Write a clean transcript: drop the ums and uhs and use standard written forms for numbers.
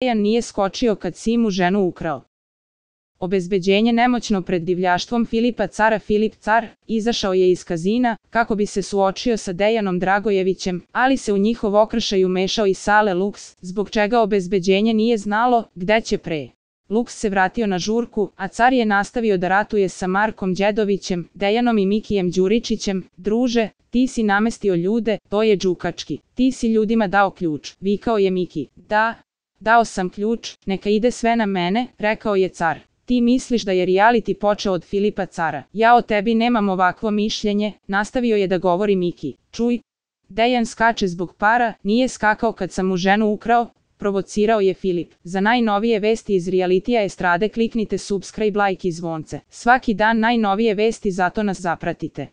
Dejan nije skočio kad si mu ženu ukrao. Obezbeđenje nemoćno pred divljaštvom Filipa Cara. Filip Car izašao je iz kazina kako bi se suočio sa Dejanom Dragojevićem, ali se u njihov okršaj umešao i Sale Luks, zbog čega obezbeđenje nije znalo gde će pre. Luks se vratio na žurku, a Car je nastavio da ratuje sa Markom Đedovićem, Dejanom i Mikijem Đuričićem. Druže, ti si namestio ljude, to je đukački. Ti si ljudima dao ključ, vikao je Miki. Da, dao sam ključ, neka ide sve na mene, rekao je Car. Ti misliš da je reality počeo od Filipa Cara. Ja o tebi nemam ovakvo mišljenje, nastavio je da govori Miki. Čuj, Dejan skače zbog para, nije skakao kad sam mu ženu ukrao, provocirao je Filip. Za najnovije vesti iz realitija estrade kliknite subscribe, like i zvonce. Svaki dan najnovije vesti, zato nas zapratite.